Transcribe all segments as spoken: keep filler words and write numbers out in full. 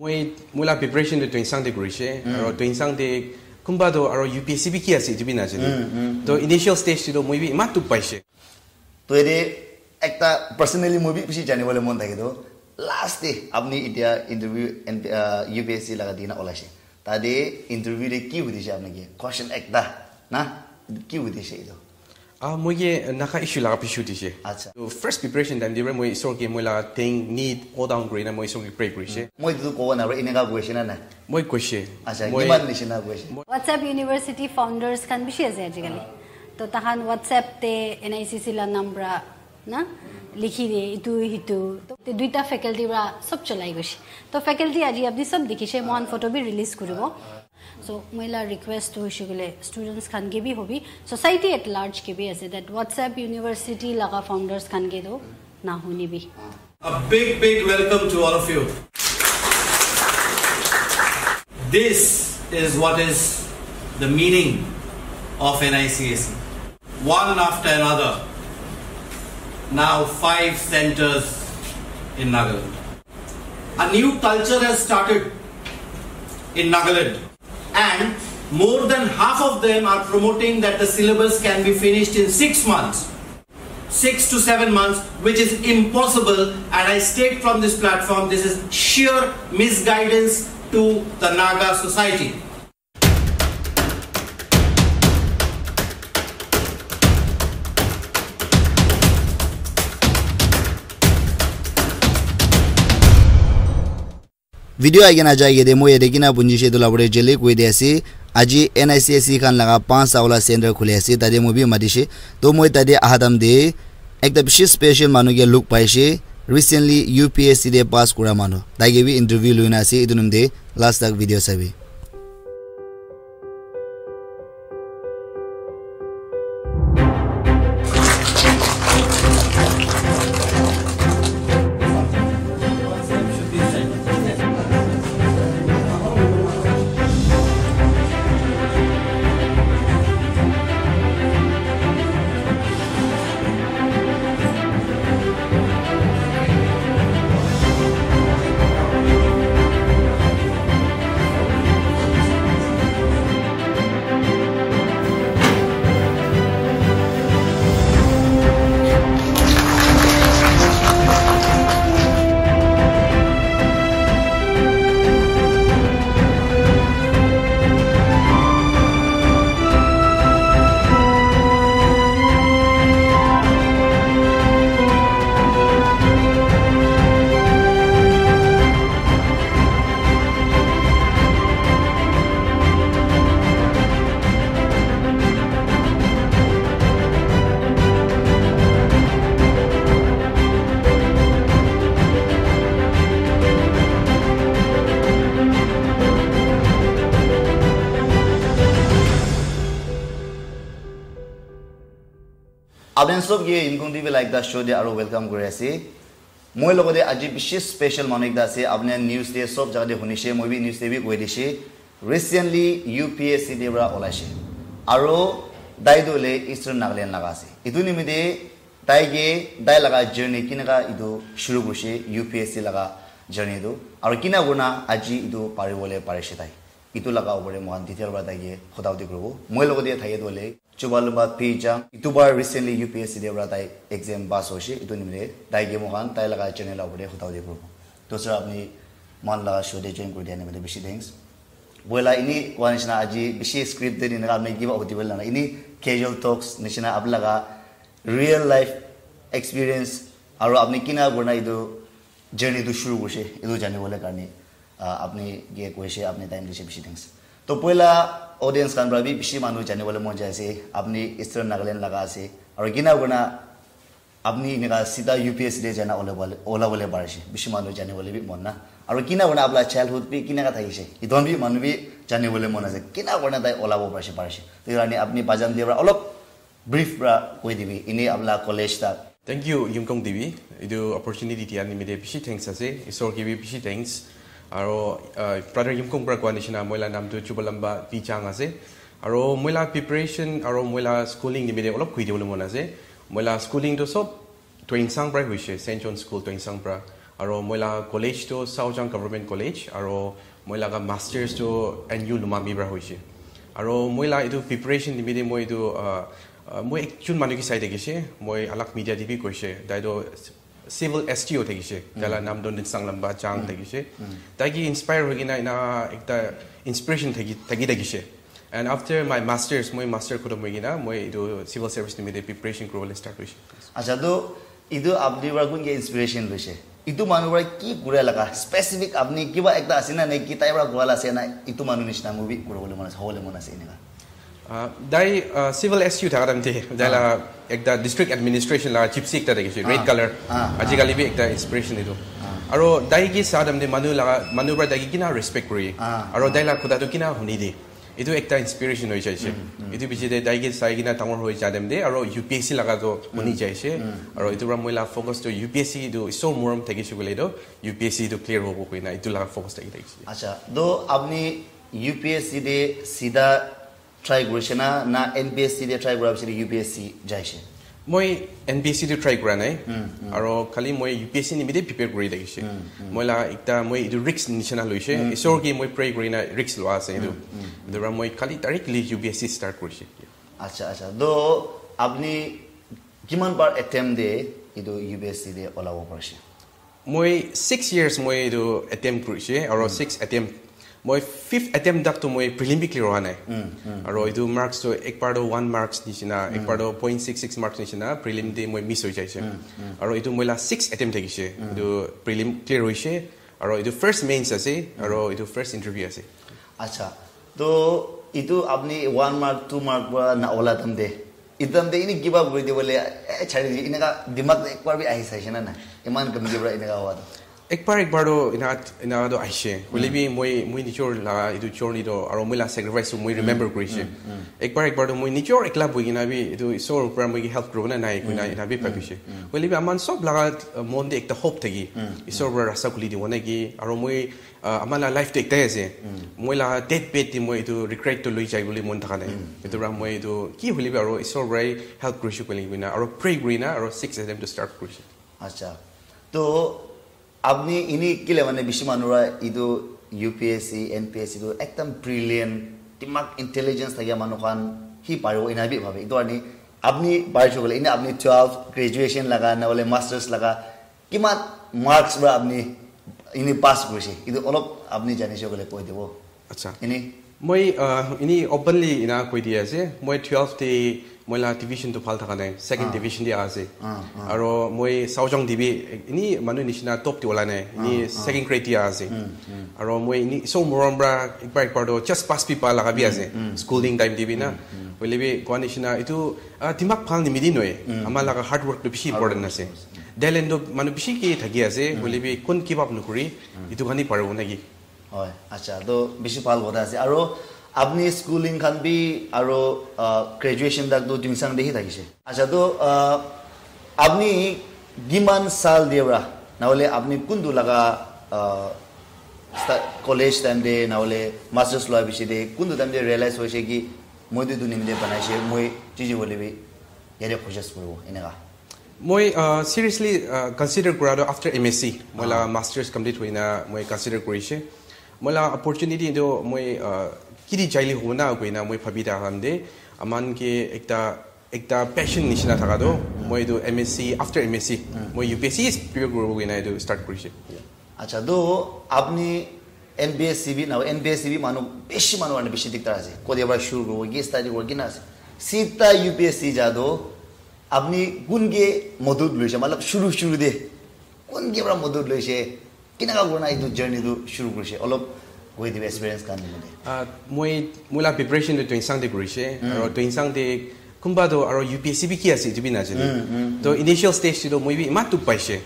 Moi, moi la preparation tu Tuensang te kurishe, aro Tuensang te kunba tu aro U P S C bi ki ase, etu bi najane. To initial stage te tu moi bi iman dukh paishe. To yate ekta personally moi bi bishi janibole mon thake to, last te apni etia interview, uh, U P S C laga dina olaishe. Tade interview te ki hudishe apni ke? Question ekta na, ki hudishe etu? Ah, moi ke Naga issue laga bishi hudishe. Acha. To first preparation time te moi isor ke moi la thing need all down kuri na moi isor ke pray kurishe. Moi tu kobo na, eneka question na na. Moi koishe. Acha, moi kiman nishina koishe? WhatsApp University founders khan bishi ase ajikali. To tahan WhatsApp te N I C C la number na likhi de, itu hitu. To te duita faculty pra sob cholai goishe. To faculty aji apni sob dikhishe, mohan photo bi release kuribo. So moi la request tu hoishe koile students khan ke bi hobi, society at large ke bi ase, that WhatsApp University laga founders khan ke tu na huni bi. A big, big welcome to all of you. This is what is the meaning of N I C S E. One after another, now five centers in Nagaland. A new culture has started in Nagaland, and more than half of them are promoting that the syllabus can be finished in six months, six to seven months, which is impossible. And I state from this platform, this is sheer misguidance to the Naga society. Video aage na jai ke de moi yate kina punji she etu la bole jele koi de ase. Aji N I C S E khan laga panch ta wala center khule ase, tate moi bi mati she. To moi tate aha time de ekta bishi special manu ke look pai she. Recently U P S C de pass kura manu. Tai ke bi interview lui na ase. Etu nom de last tak video sabi. Apni sob ke Yimkhiung T V la ekta show te aro welcome kuri ase. Moi logote aji bishi special manu ekta ase, apni news te sob jaga te hunishe, moi bi news te bi koi dishe. Recently U P S C te pra olaishe. Aro tai tu hoile Eastern Nagaland laga ase. Etu nimite tai ke, tai laga journey kinaka etu shuru kurishe, U P S C laga journey tu. Aro kina kurina aji etu pari bole parishe tai. Etu laga upor te moikhan detail para tai ke kotha hoti kuribo. Moi logote thake tu hoile Chubalumba P Chang. Etu bar recently U P S C te para tai exam pass hoise. Etu nimite tai ke moikhan tai laga journey la upor te kotha hoti kuribo. Dusra apni moikhan laga show te join kuri dia nimite bishi thanks. Boila ini koa nishina aji bishi script te dina apni kiba hoti bole na. Ini casual talks nishina apni laga real life experience aro apni kina kurina etu journey tu shuru kurise, etu jani bole karne. Ah, apni ke koise, apni time dise, bishi thanks. To poila audience khan para bi bishi manu jani bole mon jai ase, apni Eastern Nagaland laga ase. Aru kina kurina apni enika sida U P S C te jana ole bole, ola bole parise. Bishi manu jani bole bi mon na. Aru kina kurina apna childhood bi kina ka thakise. Etu bi manu bi jani bole mon ase. Kina kurina tai ola bo parise, parise. To yani apni Bajam Dev para olop brief para koi dibi, ini apna college ta. Thank you, Yimkong T V. Etu opportunity dia nimite bishi thanks ase. Isor ke bi bishi thanks. Aro, uh, brother Yimkong para koa nishina, moi la naam tu Chubalamba P Chang ase. Aro moi la preparation, aro moi la schooling nimite olop koi dibole mon ase. Moi la schooling tu sob Tuensang para hoise, Saint John School Tuensang para. Aro moi la college tu Saojang Government College, aro moi laga masters tu N U Lumami pra hoise. Aro moi la etu preparation nimite moi etu, uh, uh, moi ekjon manu ke sai thakise, moi alak media te bi koise, tai tu civil S T O thakise, tai la nam tu Ninsang Lamba Jang thakise. Tai ke inspire hoi kena ena ekta inspiration thaki, thaki thakise. And after my masters, moi master khotom hoi kena, moi etu civil service nimite preparation kuribole start hoise. Acha, to etu apni pra kun ke inspiration loise? Etu manu pra ki kura laga specific apni kiba ekta ase na, ne ki tai pra kura la ase na, etu manu nishina moi bi kuribole mon ase, hobole mon ase eneka? Ah, tai, ah, civil S U thaka time te, tai la ekta district administration la gypsy ekta thakise, red color. Ah, ah. Ajikali bi ekta inspiration etu. Aro tai ke sa time te manu laga, manu pra tai ke kina respect kuri. Ah, aro tai la kotha tu kina huni de. Etu ekta inspiration hoi jaise. Etu piche te tai ke sai kena dangor hoi ja time te, aro U P S C laga tu huni jaise. Aro etu pra moi la focus tu U P S C tu isor morom thakise koile tu U P S C tu clear hobo koina etu laga focus thaki thakise. Acha, to apni U P S C te sida try kurise na, na N P S C te try kura bisari U P S C jaise? Moi N P S C te try kura nai. Aro khali moi U P S C nimite prepare kuri thakise. Moi la ekta moi etu risk nishina loise. Isor ke moi pray kuri na risk loa ase etu. Etu pra moi khali directly U P S C start kurise. Acha, acha. To apni kiman bar attempt de etu U P S C te olabo parise? Moi six years moi etu attempt kurise, aro six attempt, moi fifth attempt tak tu moi prelim bi clear howa nai. Aro etu marks tu ek bar tu one marks nishina, ek bar tu point six six marks nishina, prelim te moi miss hoi jaise. Aro etu moi la six attempt thakise, etu prelim clear hoise, aro etu first mains ase, aro etu first interview ase. Acha, to etu apni one mark, two mark pra na ola time te, etu time te ini give up kuri dibole, eh, chari di, eneka dimag te ek bar bi ahi saise na na? Iman kamjor pra eneka howa to? Ek bar, ek bar to ena, ena to aise. Hoile bi moi, moi nijor la etu journey to, aro moi la sacrifice to moi remember kurise. Ek bar, ek bar to moi nijor ekla bohi kena bi etu isor pra moi ke help kuribo na nai koina ena bi bhabise. Hoile bi aman sob laga, uh, mon te ekta hope thaki, isor pra rasta khuli dibo naki, aro moi, uh, ama la life to ekta ase. Moi la death bed te moi etu regret to loi jai bole mon thaka nai. Etu pra moi etu ki hoile bi aro isor pra help kurise koile koina, aro pray kurina, aro six attempt to start kurise. Acha, to apni ini kile mane bishi manu ra etu U P S C, N P S C tu ekdam brilliant, dimag intelligence thakia manu khan hi paribo ena bi bhabe. Etu karne apni parise koile, ini apni twelve graduation laga, na hole masters laga, kiman marks pra apni ini pass kurise? Etu olop apni janise koile koi dibo. Acha. Ini? Moi, uh, ini openly ena koi di ase. Moi twelve te moi la division tu bhal thaka nai. Second division te ase. Aro moi Saojang te bi ini manu nishina top te ola nai. Ini second grade te ase. Aro moi ini isor morom pra ek bar, ek bar to just pass bi pa laga bi ase. Schooling time te bi na. Hoile bi koa nishina etu, uh, dimag bhal nimite nohoi. Ama laga hard work tu bishi important ase. Talent tu manu bishi ke thaki ase. Hoile bi kun give up nokuri. Etu khan hi paribo naki? Hoi, acha, to bishi bhal kotha ase. Aro apni schooling khan bi aro, ah, graduation tak to Tuensang te hi thakise. Acha, to, ah, apni kiman sal te pra, na hole apni kuntu laga, ah, sta-, college time te, na hole masters loa bishi te, kuntu time te realize hoise ki moi tu etu nimite banaise, moi jiji hoile bi yate courses kuribo, eneka? Moi, uh, seriously, uh, consider kura tu after M S C, moi la masters complete hoina moi consider kurise. Moi la opportunity tu moi, uh, kiti jaile hobo na koina moi bhabi thaka time te, aman ke ekta, ekta passion nishina thaka tu, moi tu M S C, after M S C, moi U P S C prepare kuribo koina etu start kurise. Acha, to apni N P S C bi na, N P S C bi manu, bishi manu karne bishi diktar ase. Kode pra shuru kuribo, ki study kuribo, kina ase. Sita U P S C ja to, apni kun ke modut loise, matlab shuru, shuru te kun ke pra modut loise, kinaka kurna etu journey tu shuru kurise, olop koi dibe experience khan nimite. Ah, moi, moi la preparation tu Tuensang te kurise, aro Tuensang te kunba tu aro U P S C bi ki ase, etu bi najane. To initial stage te tu moi bi iman dukh paise.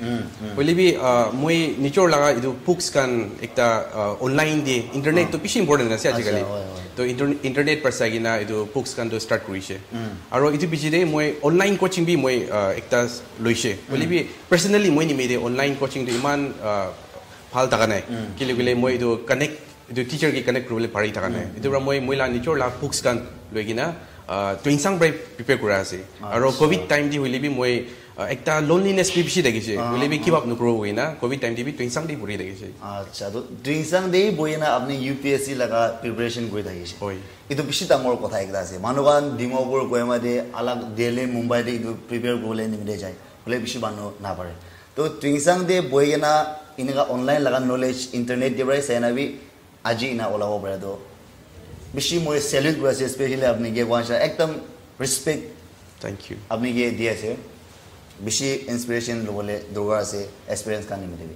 Hoile bi, ah, moi nijor laga etu books khan ekta, ah, online te, internet tu bishi important ase ajikali. Acha, hoi, hoi. To inter-, internet pra sai kena etu books khan tu start kurise. Aro etu piche te moi online coaching bi moi, ah, ekta loise. Hoile bi personally moi nimite online coaching tu iman, ah, bhal thaka nai. Kile kile moi etu connect, etu teacher ke connect kuribole pari thaka nai. Etu pra moi, moi la nijor la books khan loi kena, ah, Tuensang pra prepare kura ase. Aro acha. Covid time te hoile bi moi, Uh, ekta loneliness bi bishi thakishe. Hoile bi give up nokuribo koina covid time te bi Tuensang te puri thakishe. Acha, to Tuensang te bohi na apni U P S C laga preparation kuri thakishe. Hoi. Itu bishi dangor kotha ekta ase. Manu khan Dimapur, Kohima te, alag Delhi, Mumbai te itu prepare kuribole nimite jai. Hoile bishi manu napare. To Tuensang te bohi kena eneka online laga knowledge, internet te para sai na bi aji ena olabo pare to bishi moi salute kuri ase, especially apni ke koa nisna ekdam respect. Thank you. Apni ke di ase, bishi inspiration lobole dorkar ase, experience khan nimite bi.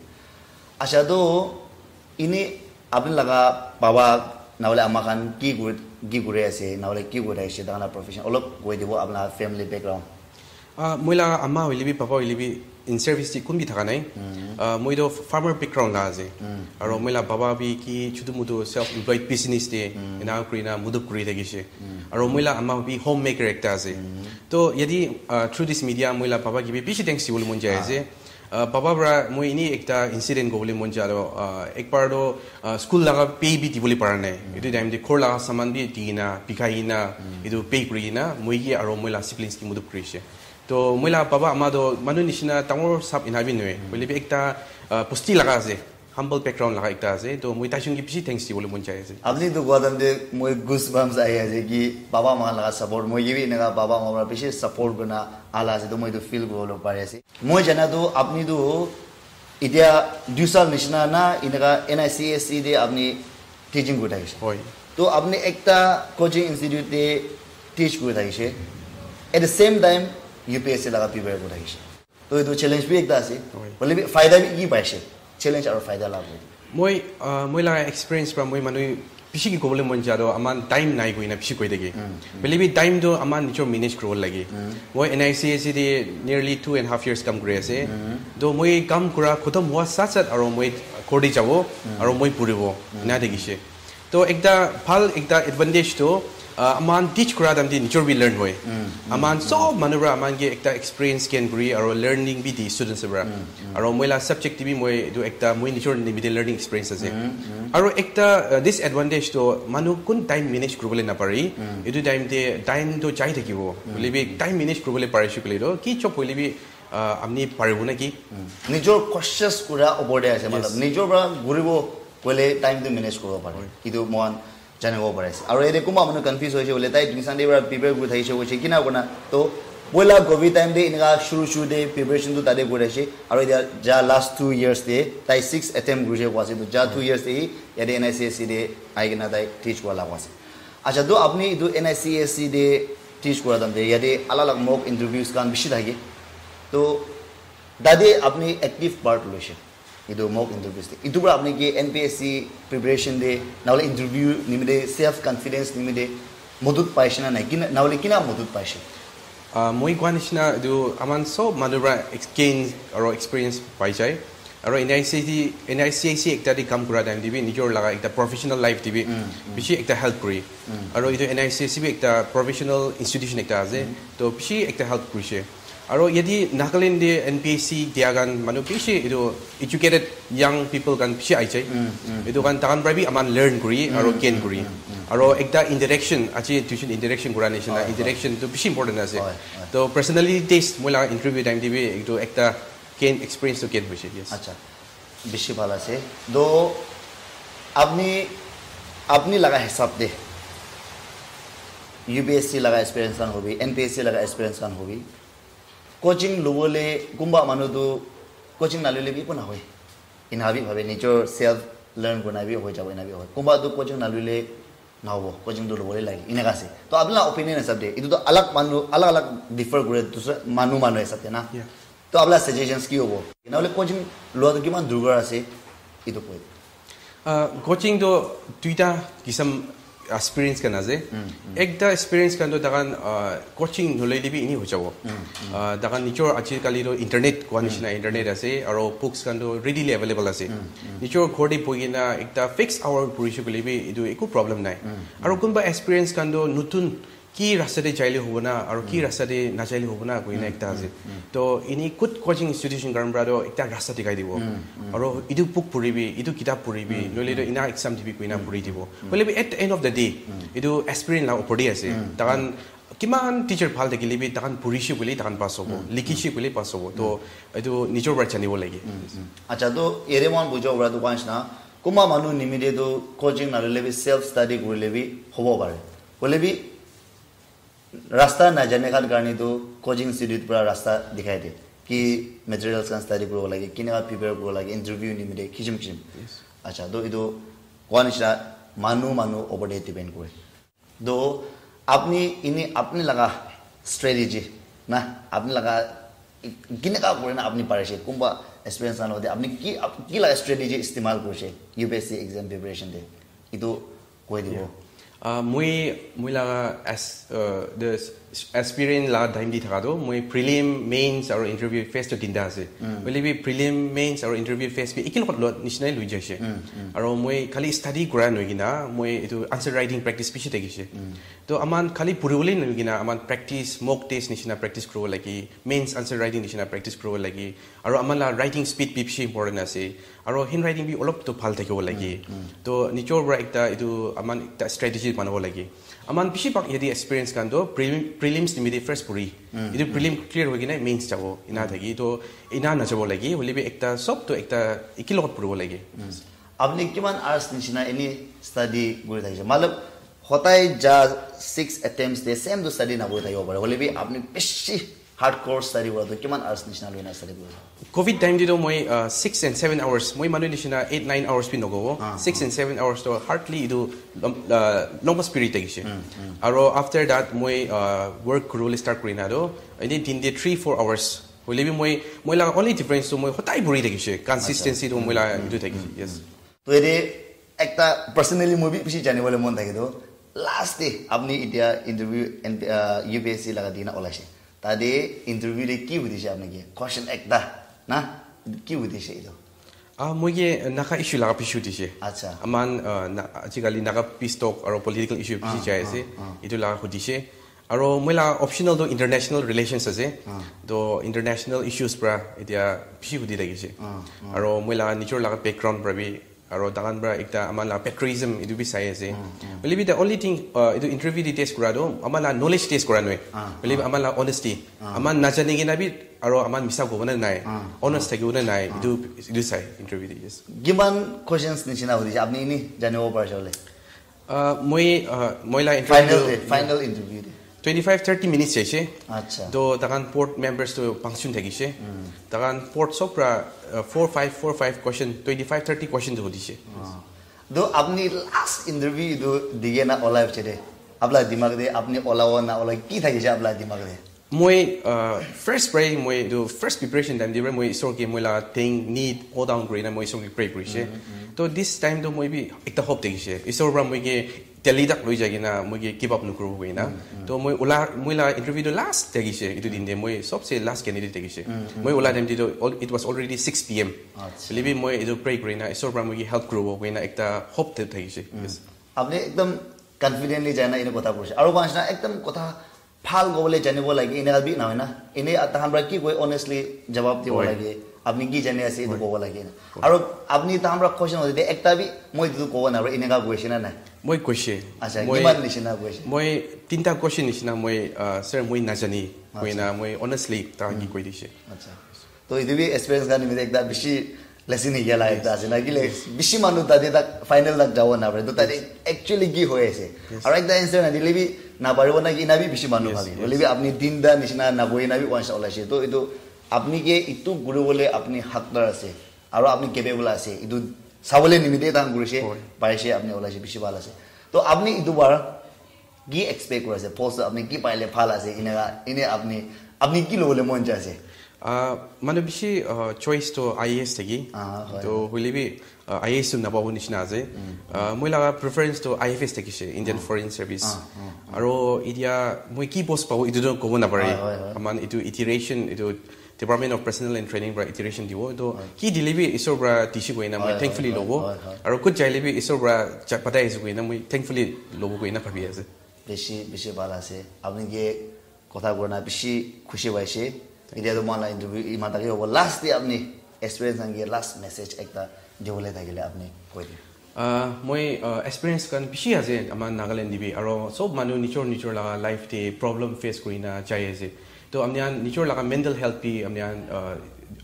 Acha, to ini apni laga baba nahole ama khan ki kuri, ki kuri ase, nahole ki kuri ase, tahan la profession olop koi dibo, apna family background. Ah, moi la ama hoile bi, papa hoile bi, in service te kun bi thaka nai. Ah, moi to farmer background la ase. Aro moi la baba bi ki chutu mutu self employed business te ena kuri na mudup kuri thakishe. Aro moi la ama bi homemaker ekta ase. To yadi, ah, through this media moi la baba ki bi bishi thanks dibole mon jai ase. Ah, baba para moi ini ekta incident kobole mon jai to, ah, ekbar to, ah, school laga pay bi dibole para nai. Itu time te ghor laga saman bi di na, bikai na, itu pay kuri na, moi ki aro moi la siblings ki mudup kurishe. To moi la baba ama to manu nishina dangor sap ena bi nohoi. Hoile bi ekta, ah, bosti laga ase, humble background laga ekta ase. To moi taijun ki bishi thanks dibole mon jai ase. Apni to koa time te moi goosebumps ahi ase ki baba ama laga support, moi ki bi eneka baba ama para bishi support kurina ala ase, to moi itu feel kuribole pari ase. Moi jana tu apni tu etia dui sal nishina na eneka N I C S E te apni teaching kuri thakishe. Hoi. To apni ekta coaching institute te teach kuri thakishe. At the same time, U P S C laga prepare kuri thakishe. To etu challenge bi ekta ase. Hoi. Hoile bi faida bi ki paishe? Challenge aru faida la koi. Moi, ah, moi laga experience pra moi manu bishi ki kobole mon jai to aman time nai koina bishi koi thake. Hoile bi time to aman nijor manage kuribole lage. Moi N I C S E te nearly two and half years kam kuri ase. To moi kam kura khotom hua sat sat aro moi ghor te jabo, aro moi puribo. Ena thakishe. To ekta bhal ekta advantage to, ah, aman teach kura time te nijor bi learn hoi. Aman sob manu pra aman ke ekta experience gain kuri aro learning bi di students pra. Aro moi la subject te bi moi etu ekta moi nijor nimite learning experience ase. Aro ekta, uh, disadvantage to manu kun time manage kuribole napare. Etu time te time to jai thakibo. Hoile bi time manage kuribole parishe koile to ki job hoile bi, uh, apni paribo na ki? Nijor cautious kura opor te ase, matlab, nijor pra kuribo koile time to manage kuribo pare. Etu mohan janibo pari ase. Aro yate kunba manu confuse hoise bole, tai Tuensang te para prepare kuri thakise hoise, kina kurina. To poila covid time te enika shuru shuru te preparation tu tate kuri ase. Aro etia ja last two years te tai six attempt kurise koa ase. To ja two years te hi yate N I C S E te ahi kena tai teach kura la koa ase. Acha, to apni etu N I C S E te teach kura time te yate alag alag mock interviews khan bishi thake. To tate apni active part loise. Etu mock interviews te. Etu para apni ki N P S C preparation te, nahole interview nimite, self confidence nimite modut paise na nai? Kina, nahole kina modut paise? Ah, moi koa nishina etu aman sob manu para ex-, gain aro experience pai jai. Aro N I C S E, N I C S E ekta te kam kura time te bi nijor laga ekta professional life te bi bishi ekta help kuri. Aro etu N I C S E bi ekta professional institution ekta ase. To bishi ekta help kurise. Aro yate Nagaland te N P S C dia khan manu bishi etu educated young people khan bishi ahi jai. Etu khan tahan para bi aman learn kuri aro gain kuri. Aro ekta interaction, aji tuition interaction kura nishina, interaction tu bishi important ase. To personally taste moi laga interview time te bi etu ekta gain, experience tu gain hoise, yes. Acha, bishi bhal ase. To apni, apni laga hisab te U P S C laga experience khan hobi, N P S C laga experience khan hobi, coaching lobole kunba manu tu coaching nalole bi ekko nahoi. Ena bi bhabe nijor self learn kurina bi hoi jabo, ena bi hoi. Kunba tu coaching nalole nahobo, coaching tu lobole lage, eneka ase. To apni laga opinion hisab te, etu tu alag manu, alag alag differ kure, dusra manu manu hisab te na. To apni laga suggestions ki hobo? Nahole coaching loa tu kiman dorkar ase, etu koi. Ah, coaching tu duita kisam experience khan ase. Ekta experience khan tu tahan, ah, coaching naloile bi eni hoi jabo. Ah, tahan nijor ajikali tu internet koa nishina internet ase, aro books khan tu readily available ase. Nijor ghor te bohi kena ekta fixed hour porishe koile bi etu eku problem nai. Aro kunba experience khan tu notun ki rasta te jaile hobo na, aro ki rasta te najaile hobo na, koina ekta ase. To ini good coaching institution khan para to ekta rasta dikhai dibo. Aro etu book puribi, etu kitab puribi, nohole to ena exam dibi koina puri dibo. Hoile bi at the end of the day, etu aspirant la upor te ase. Tahan Kiman teacher bhal thakile bi tahan purishe koile tahan pass hobo, likhishe koile pass hobo. To etu nijor para janibo lage. Acha, to ere mon bujo obra to kwan na. Kuma manu nimide to coaching na lele bi self study kurile bi hobo pare. Hoile bi rasta na jane khan karne to coaching institute pura rasta dikhai de. Ki materials khan study kuribo lage, kineka prepare kuribo lage, interview nimide kisim kisim. Acha, to etu kwan na manu manu opor de depend kore. To apni ini apni laga strategy na apni laga kineka kore na apni parise kumba experience na lode apni ki ap- ki laga strategy istemal korise U P S C exam preparation de itu koi dibo. Ah, moi moi laga as uh, the s- aspirant laga time di thaka tu moi prelim, mains aru interview face to tinta ase. Hoile bi prelim, mains aru interview face bi ekin lot lot nishinai lui jaise. Aru moi khali study kura noi kina moi itu answer writing practice bishi thakise. To aman khali puribole noi kina aman practice, mock test nishina practice kuribo lagi, mains answer writing nishina practice kuribo lagi. Aru aman la writing speed bi bishi important ase. Aru handwriting bi olop to bhal thakibo lagi. To nijor para ekta itu aman ekta strategy banabo lagi. Aman bishi bhag yate experience khan to prelim, prelims nimite first puri. Itu prelim clear hoi kina mains jabo ina thaki. To ina najabo lagi. Hoile bi ekta sob to ekta ekin lot puribo lagi. Apni kiman hours nishina ini study kuri thakise? Matlab, hotai ja six attempts de same to study na kuri thakibo pare. Hoile bi apni bishi hardcore study kura to kiman hours nishina loina study kuri? Covid time di to moi uh, six and seven hours. Moi manu nishina eight nine hours bi nogobo. Six and seven hours to hardly itu lom- uh, longest period thakise. Aru after that moi uh, work kuribole start kurina to ini din de three four hours. Hoile bi moi moi laga only difference to moi hotai puri thakise. Consistency to moi laga itu thakise. Yes. To ede ekta personally moi bi bishi janibole mon thake to last day apni itia interview and uh, U P S C laga dina olaise. Tade interview de ki hudise apni ke? Question ekta na ki hudise itu? Ah, moi ke Naga issue laga bishi hudise. Acha. Aman uh, na, ajikali Naga peace talk aru political issue bishi jai ase. Itu laga hudise. Aru moi laga optional to international relations ase. To international issues para etia bishi hudi thakise. Aru moi laga nijor laga background para bi aru tahan para ekta aman laga patriotism itu bi sai ase. Hoile bi the only thing uh, itu interview di test kura to aman laga knowledge test kura noi. Hoile bi aman laga honesty. Aman najani kina bi aru aman misa kobo na nai. Honest thakibo na nai. Itu itu sai interview di yes. Kiman questions nishina hudise apni ini janibo parise bole? Uh, moi uh, moi laga Final interview de, final interview de. Twenty five thirty minutes jaise. Acha. To tahan board members to function thakise. Tahan board sob para uh, four five four five question, twenty five thirty question to hudise. To apni last interview itu dige na olai piche de apla dimag de apni olawo na olai ki thakise apla dimag de? Moi uh, first pray moi itu first preparation time di pray moi isor ke moi laga thing need all down kuri na moi isor ke pray kurise. To this time to moi bi ekta hope thakise. Isor para moi ke Delhi tak loi jai kina moi ke give up nukuribo koi na. To moi ula moi laga interview to last thakise itu din de moi sobse last candidate thakise. Moi ula time di to al- it was already six p m. Hoile bi moi itu pray kuri na isor para moi ke help kuribo koi na ekta hope te thakise. Yes. Apni ekdom confidently jai na ine kotha koise. Aru kwan na ekdom kotha bhal kobole janibo lage, ine bi na hoina. Ine tahan para ki koi honestly jawab dibo lage. Apni ki jani ase itu kobo lage. Aru apni tahan para question hoile ekta bi moi itu kobo na pare, ine ka koise na nai? Moi koise. Acha, kiman nishina koise? Moi tinta question nishina moi uh, sir moi najani koi na moi honestly tahan ke koi dise. Acha. To itu bi experience khan nimite ekta bishi lesson hi gela ekta ase na kile bishi manu tate tak final tak jabo na pare. To tate actually ki hoi ase? Aru ekta answer na dile bi na paribo na ki na bi bishi manu bhabi. Hoile bi apni tinta nishina na boi na bi once olaise. To itu apni ke itu kuribole apni hakdar ase. Aru apni capable ase. Itu sabole nimite tahan kurise, paise apni olaise bishi bhal ase. To apni itu bar ki expect kuri ase? Post apni ki paile bhal ase? Ine ine apni apni ki lobole mon jai ase? Ah, manu bishi uh, choice to I A S thaki. Ah, hoi. To hoile bi uh, I A S to napabo nishina ase. Uh, moi laga preference to I F S thakise, Indian Foreign Service. Aru itia moi ki post pabo itu to kobo na pare. Aman itu iteration itu Department of Personnel and Training para iteration dibo. To ki dile bi isor para dise koi na moi thankfully lobo. Aru kut jaile bi isor para patai ase koi na moi thankfully lobo koi na bhabi ase. Bishi bishi bhal ase. Apni ke kotha kurina bishi khushi paise. Etia tu moi la interview iman take hobo. Last te apni experience khan ke last message ekta dibole thakile apni koi diyo. Uh, moi uh, experience kan bishi ase ama Nagaland dibi aro sob manu nijor nijor laga life te problem face kurina jai ase. To amni an nijor laga mental health bi amni an uh,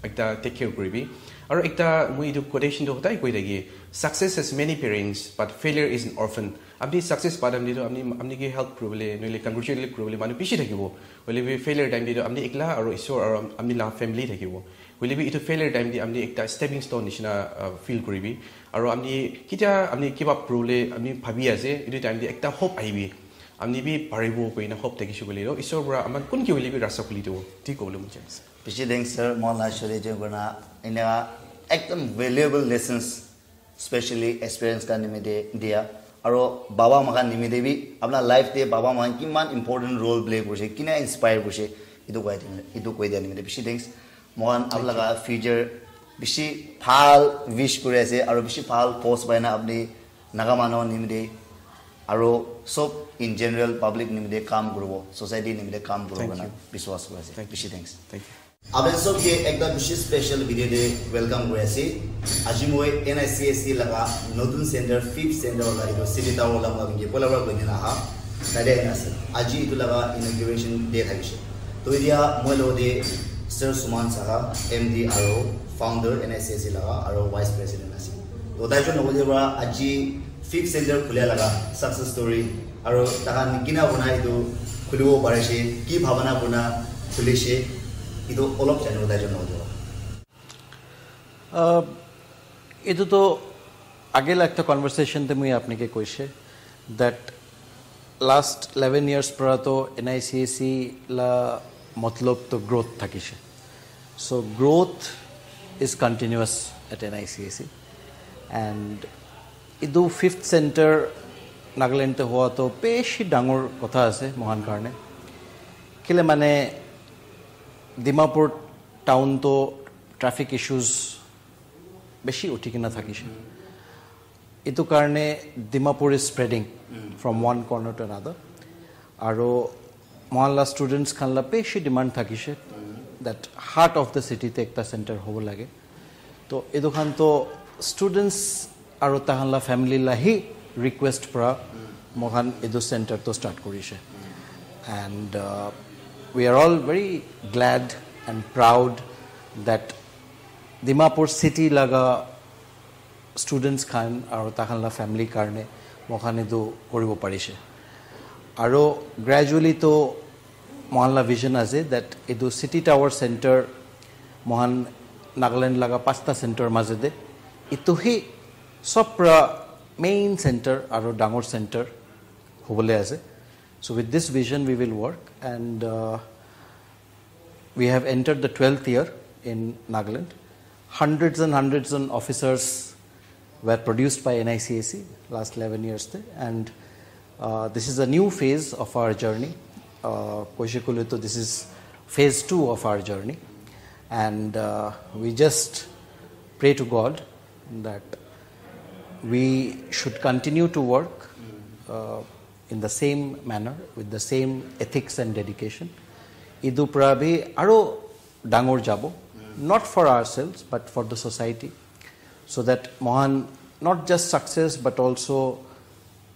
ekta take care kuribi. Aro ekta moi etu quotation to hodai koi thaki, success has many parents but failure is an orphan. Amni success pa amni to amni amni ke help kuribole noile congratulate kuribole manu bishi thakibo. Hoile bi failure time te to amni ekla aro isor aro amni la family thakibo. Hoile bi etu failure time te amni ekta stepping stone nishina uh, feel kuribi. Aro amni kitia amni kiba purule amni bhabi ase etu time te ekta hope ahibi. Amni bi paribo koina hope thakishe koile to isor pura aman kun ki hoile bi rasta khuli dibo. Thik kobole mon jai ase. Bishi thanks sir, moi la show te join kurna ena ekdam valuable lessons specially experience ka nimite dia aro baba makan nimite bi apna life te baba makan kiman important role play kurise kina inspire kurise itu koi itu koi dia nimite bishi thanks. Mohan apna laga future bishi bhal wish kuri ase aro bishi bhal post paina apni naga manu nimite aro sob in general public nimite kam kuribo society nimite kam kuribo Thank na you. biswas kuri ase Thank you. Bishi thanks. Thank you. Aben sob ke ekta bishi special video de welcome kuri ase. Aji moi N I C S C laga notun center fifth center wala etu city tower wala moi ke pola wala koi dina ha. Tade na ase. Aji itu laga inauguration day thakishe. To etia moi lo de Sir Suman Saha, M D aro founder N I C S C laga aro vice president ase. To tai jon hoile ba aji fifth center khulia laga success story aro takan kina bona itu khulibo parishe, ki bhabana bona khulishe, itu olop janibo tai jon hoile ba. Uh, এইটো তো আগে একটা কনভারসেশন তে মই আপোনাকে কৈছে that last eleven years পৰা তো এন আই চি এ চি লা মতলব তো গ্ৰ'থ থাকিছে. So growth is continuous at N I C A C and এইটো ফিফ্থ চেণ্টাৰ নাগালেণ্ডতে হোৱাটো বেছি ডাঙৰ কথা আছে মহান কাৰণে. কেলে মানে ডিমাপুৰ টাউনটো ট্ৰাফিক ইছ্যুজ বেছি উঠি কিনে থাকিছে. এইটো কাৰণে Dimapur is spreading from one corner to another. আৰু মহানলা ষ্টুডেণ্টছ খানলা বেছি ডিমাণ্ড থাকিছে দেট হাৰ্ট অফ দ্য চিটিতে একটা চেণ্টাৰ হ'ব লাগে. তো এইটো খানতো ষ্টুডেণ্টছ আৰু তাহানলা ফেমিলি লাহি ৰিকুৱেষ্ট পৰা মহান এইটো চেণ্টাৰটো ষ্টাৰ্ট কৰিছে. And we are all very glad and proud that Dimapur চিটি লগা ষ্টুডেণ্টছ খান আৰু তাহানলা ফেমিলিৰ কাৰণে মহান এইটো কৰিব পাৰিছে. আৰু গ্ৰেজুৱেলিতো মহানলা ভিজন আছে দেট এইটো চিটি টাৱাৰ চেণ্টাৰ মহান নাগালেণ্ড লগা পাঁচটা চেণ্টাৰ মাজেদি এইটো সি চব পৰা মেইন চেণ্টাৰ আৰু ডাঙৰ চেণ্টাৰ হ'বলৈ আছে. So with this vision we will work and we have entered the twelfth year in Nagaland. Hundreds and hundreds of officers were produced by N I C A C last eleven years te, and uh, this is a new phase of our journey. Uh, Koshi Kulito, this is phase two of our journey, and uh, we just pray to God that we should continue to work uh, in the same manner with the same ethics and dedication. Idu pra bhi aro dangor jabo, not for ourselves but for the society, so that mohan not just success but also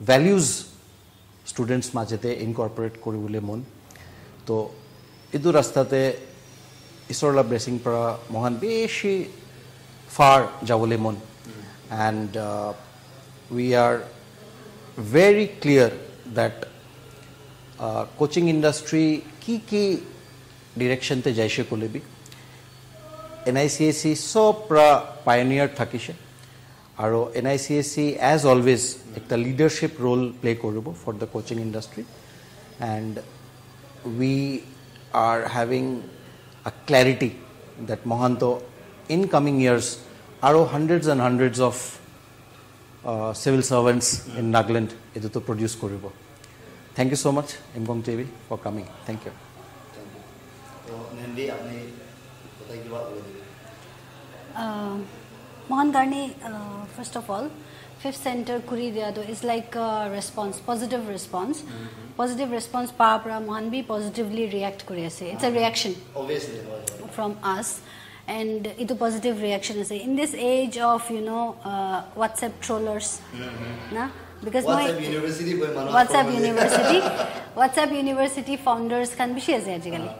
values students majete incorporate kuribole mon. To idu rasta te isor la blessing pra mohan beshi far jabole mon. And uh, we are very clear that uh, coaching industry ki ki direction te jaise kole bi N I C A C sob pra pioneer thakise. Aro N I C A C as always ekta leadership role play koribo for the coaching industry, and we are having a clarity that mohan to in coming years aro hundreds and hundreds of uh, civil servants in Nagaland etu to produce koribo. Thank you so much, Imkong T V, for coming. Thank you. তো নেন্দি আপুনি কথা কিবা ক'ব নেকি? Uh, mohan karni, uh, first of all, fifth center kuri dia to is like a response, positive response. Positive response pa pra mohan bi positively react kuri ase. It's a reaction Obviously, হয়, হয়. From us. And itu positive reaction ase in this age of, you know, uh, WhatsApp trollers, na? Because WhatsApp moi University boy manu WhatsApp follow University, WhatsApp University founders khan bishi ase ajikali.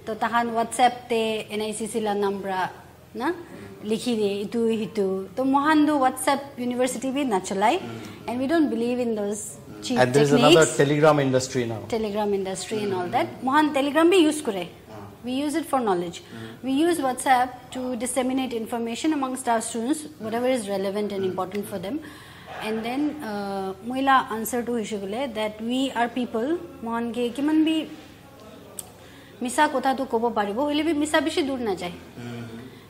To tahan WhatsApp te NICC la number na likhi de itu hitu. To mohan do WhatsApp University bi nachalai, and we don't believe in those cheap And there is techniques. Another Telegram industry now. Telegram industry and all that. Mohan Telegram bi use kore. We use it for knowledge. We use WhatsApp to disseminate information amongst our students, whatever is relevant and important for them. And then uh, moila answer to hoishe kole that we are people. Mohan ke kiman bi misa kotha tu kobo paribo, hoile bi misa bishi dur na jai.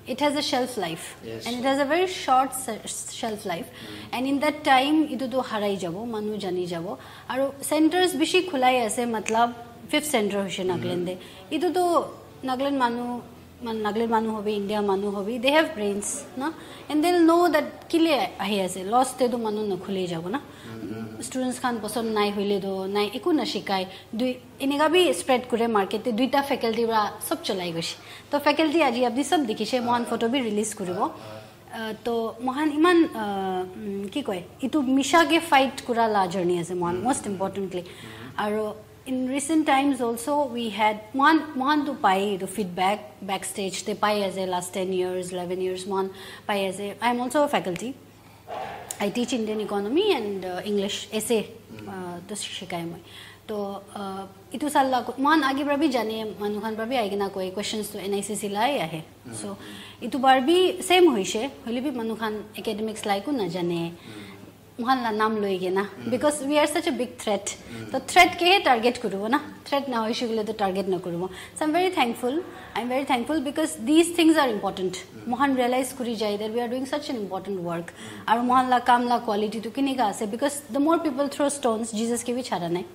It has a shelf life, Yes. And it has a very short se- shelf life. And in that time, itu tu harai jabo, manu jani jabo. Aru centers bishi khulai ase, matlab fifth center hoishe Nagaland de. Itu tu Nagaland manu, man Nagaland manu hobi, India manu hobi, they have brains, na? And they'll know that kile ahi ase, loss te tu manu na khule jabo na. Students khan poson nai hoile tu nai, eku na shikai. Dui eneka bi spread kure market te, duita faculty pra sob cholai goshi. To faculty aji apni sob dikhishe, mohan photo bi release kuribo. Uh, to mohan iman uh, mm, ki koi, itu misha ke fight kura la journey ase mohan, most importantly. Aru in recent times also we had mohan mohan to pai itu feedback backstage te pai ase last ten years, eleven years mohan pai ase. I am also a faculty. I teach Indian economy and uh, English essay uh, to shikai moi. To uh, itu sal la mohan age pra bi jane, manu khan pra bi aigena koi questions to NICC lai ahe. So itu bar bi same hoishe, hoile bi manu khan academics lai ku na jane. Mohan la nam loi kena, because we are such a big threat. To threat ke target kuribo na, threat na hoishe kole to target na kuribo. So I'm very thankful. I'm very thankful because these things are important. Mohan realize kuri jai that we are doing such an important work. Aru mohan la kam la quality tu kinika ase, because the more people throw stones, Jesus ke bi chhara nai.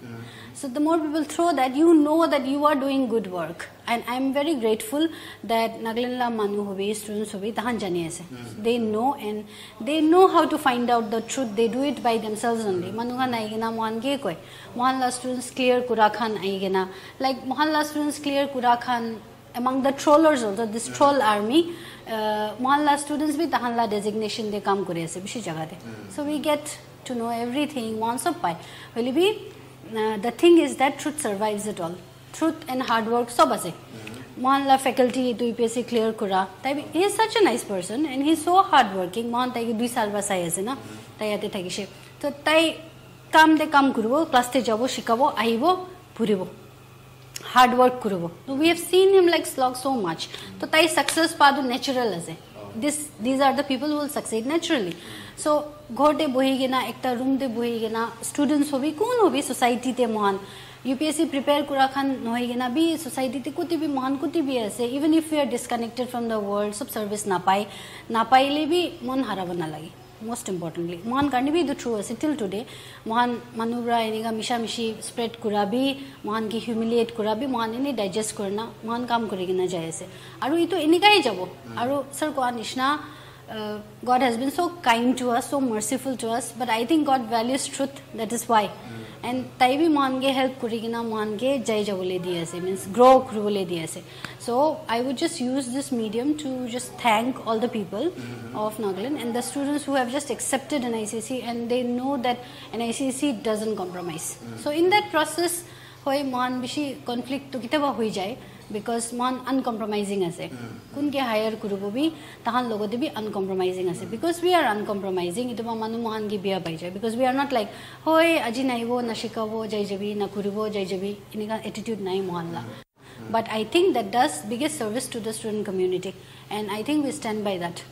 So the more people throw that, you know that you are doing good work. And I'm very grateful that Nagaland la manu hobi, students hobi, tahan jani ase. They know and they know how to find out the truth. They do it by themselves only. Manu khan aigena mohan ke koi. Mohan la students clear kura khan aigena. Like mohan la students clear kura khan among the trollers also, this troll army, uh, mohan la students bi tahan la designation de kam kuri ase bishi jaga de. So we get to know everything, mohan sob pai. Hoile bi, uh, the thing is that truth survives it all. Truth and hard work sob ase. Mohan la faculty tu UPSC clear kura. Tai bi, he is such a nice person and he is so hard working. Mohan tai ke dui sal ba sai ase na. Tai yate thakishe. To tai kam de kam kuribo, class te jabo, shikabo, ahibo, puribo. Hard work kuribo. So we have seen him like slog so much. To tai success pa tu natural ase. This, these are the people who will succeed naturally. So ghor te bohi kena, ekta room te bohi kena, students hobi, kun hobi, society te mohan UPSC prepare kura khan nohoi kena bi society te kuti bi mohan kuti bi ase, even if we are disconnected from the world, sob service napai, napaile bi mon harabo nalage. Most importantly, mohan karne bi etu true ase till today. Mohan manu pra enika misha mishi spread kura bi, mohan ke humiliate kura bi, mohan ene digest kurna mohan kam kuri kena jai ase. Aru etu enika hi jabo. Aru sir koa nishna, uh, God has been so kind to us, so merciful to us, but I think God values truth, that is why. And tai bi mohan ke help kuri kena mohan ke jai jabole di ase, means grow kuribole di ase. So I would just use this medium to just thank all the people of Nagaland and the students who have just accepted NICC, and they know that NICC doesn't compromise. So in that process, hoi mohan bishi conflict to kitaba hoi jai, because mohan uncompromising ase. Kun ke hire kuribo bi, tahan logote bi uncompromising ase. Because we are uncompromising, itu ba manu mohan ke biya pai jai. Because we are not like, hoi, aji naibo, na shikabo, jai jabi, na kuribo, jai jabi, enika attitude nai mohan la. But I think that does biggest service to the student community, and I think we stand by that.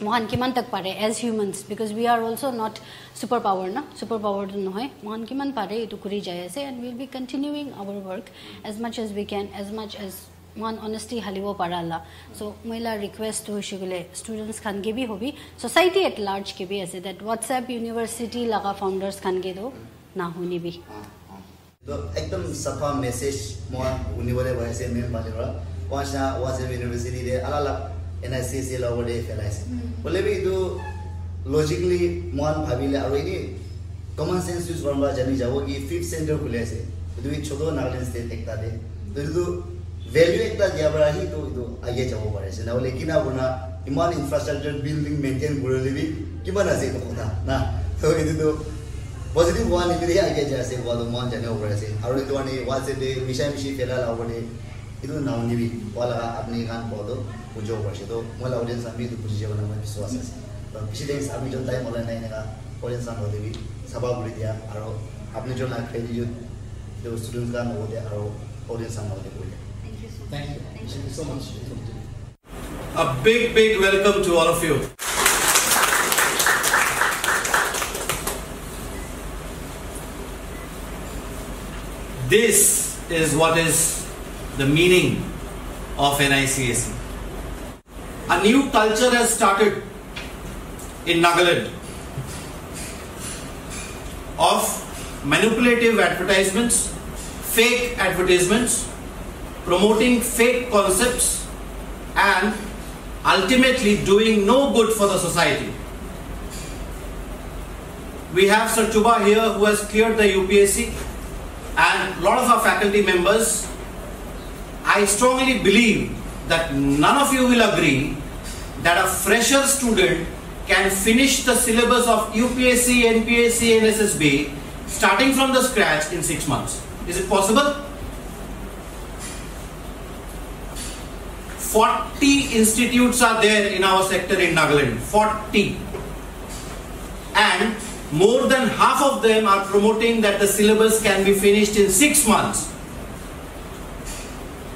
Mohan kiman tak pare as humans, because we are also not superpower na, superpower tu nohoi. Mohan kiman pare itu kuri jai ase, and we'll be continuing our work as much as we can, as much as mohan honesty halibo para la. So moila request tu hoishe koile students khan ke bi hobi, society at large ke bi ase, that WhatsApp University laga founders khan ke tu na huni bi. To ekdam sapha message moi unibole paise main pani pra. Washa WhatsApp University de ala la NICC la over de felaise. Bole bi itu logically mohan bhabile aru ini common sense use kurna jani jabo ki fifth center khule ase. Itu bi choto Nagaland state ekta de. To itu Value ekta dia para hi tu itu aage jabo pare ase. Nahole kina kurna iman infrastructure building maintain kurele bi kiman ase itu kotha na. So itu tu positive one nimite hi aage jai ase koa tu mohan janibo pare ase. Aru itu ani WhatsApp te misha mishi phela la opor te itu nahunibi wala apni khan koa tu bujibo pare ase. To moi la audience khan bi itu buji jabo na moi biswas ase. To bishi thanks apni jon time olai na eneka audience khan hote bi sabha kuri dia aru apni jon la gratitude itu students khan hote aru audience khan hote kuri dia. Thank you so much. A big, big welcome to all of you. This is what is the meaning of NICAC. A new culture has started in Nagaland of manipulative advertisements, fake advertisements, promoting fake concepts, and ultimately doing no good for the society. We have Sir Chuba here who has cleared the U P S C and lot of our faculty members. I strongly believe that none of you will agree that a fresher student can finish the syllabus of U P S C, N P S C, N S S B starting from the scratch in six months. Is it possible? Forty institutes are there in our sector in Nagaland. Forty. And more than half of them are promoting that the syllabus can be finished in six months.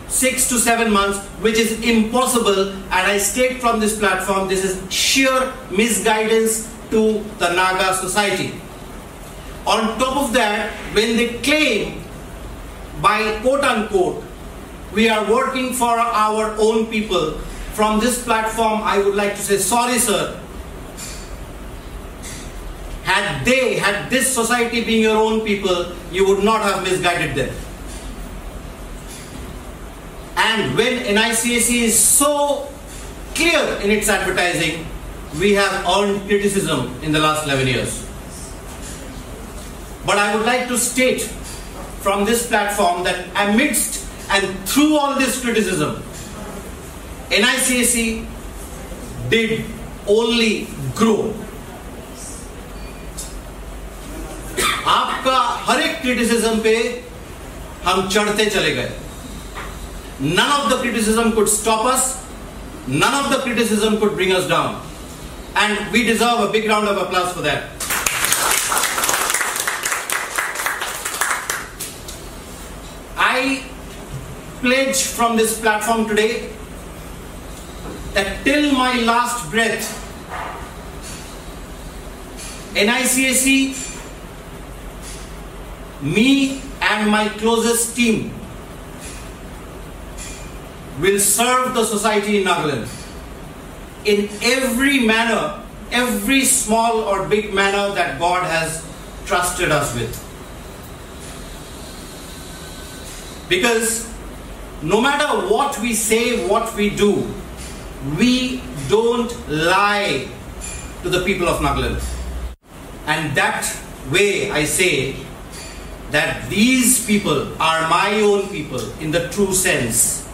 Six to seven months, which is impossible. And I state from this platform, this is sheer misguidance to the Naga society. On top of that, when they claim by quote unquote, we are working for our own people, from this platform, I would like to say, sorry, sir. Had they, had this society been your own people, you would not have misguided them. And when NICAC is so clear in its advertising, we have earned criticism in the last eleven years. But I would like to state from this platform that amidst and through all this criticism, NICAC did only grow. आपका हर एक क्रिटिसिज्म पे हम चढ़ते चले गए. None of the criticism could stop us. None of the criticism could bring us down. And we deserve a big round of applause for that. I pledge from this platform today that till my last breath, NICAC, me and my closest team will serve the society in Nagaland in every manner, every small or big manner that God has trusted us with. Because no matter what we say, what we do, we don't lie to the people of Nagaland. And that way I say that these people are my own people in the true sense.